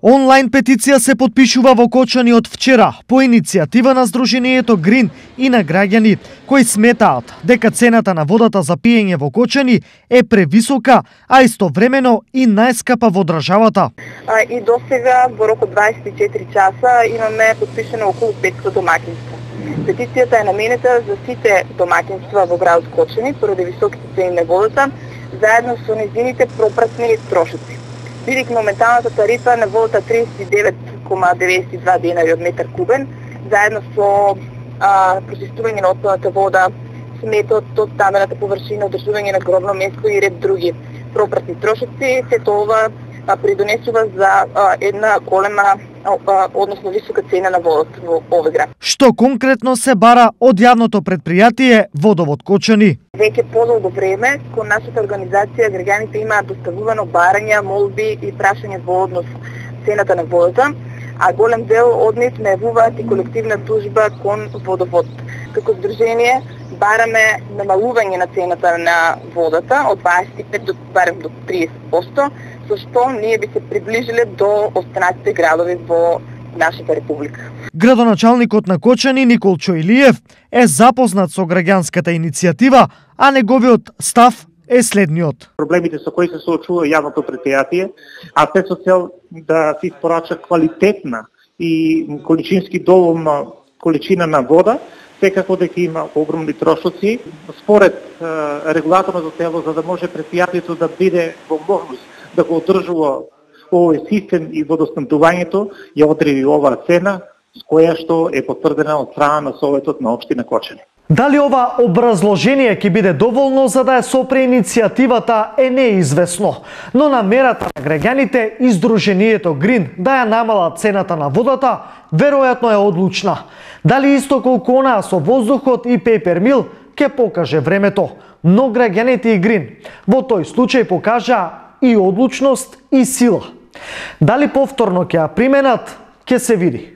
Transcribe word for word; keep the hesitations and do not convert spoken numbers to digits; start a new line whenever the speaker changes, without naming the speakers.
Онлайн петиција се потпишува во Кочани од вчера по иницијатива на Сдруженијето Грин и на граѓани кои сметаат дека цената на водата за пиење во Кочани е превисока, а истовремено и најскапа во државата.
А, и досега во рок од дваесет и четири часа имаме потпишено околу петстотини домаќинства. Петицијата е наменета за сите домаќинства во градот Кочани поради високите цени на водата, заедно со незините пропратни трошоци. Бидејќи моменталната тарифа на водата триесет и девет кома деветдесет и два денари од метар кубен, заедно со а, прочистување на отпадната вода, сметот од стамбената површина, одржување на гробно место и ред други пропратни трошоци, сето ова а, придонесува за а, една голема, а, односно висока цена на водата во овој град.
Што конкретно се бара од јавното предпријатие Водовод Кочани?
Веќе подолго време кон нашата организација граѓаните имаат доставувано барања, молби и прашања во однос цената на водата, а голем дел од нив најавуваат и колективна тужба кон Водовод. Како здружение бараме намалување на цената на водата од дваесет и пет до барем до триесет проценти, со што ние би се приближиле до останатите градови во нашата република.
Градоначалникот на Кочани Никол Чоилиев е запознат со граѓанската иницијатива, а неговиот став е следниот.
Проблемите со кои се соочува јавното предпријатие, а се со цел да се испорача квалитетна и количински доволна количина на вода, секако дека има огромни трошоци. Според е, регулаторното тело, за да може предпријатието да биде во можност да го одржува овој систем и водоснабдувањето, ја одреди оваа цена, с која што е потврдена од страна на Советот на општина Кочани.
Дали ова образложение ќе биде доволно за да ја сопре иницијативата е неизвестно, но намерата на граѓаните и Сдруженијето Грин да ја намалат цената на водата веројатно е одлучна. Дали исто колку онаа со воздухот и пейпер мил ќе покаже времето, но граѓаните и Грин во тој случај покажа и одлучност и сила. Дали повторно ќе ја применат, ќе се види.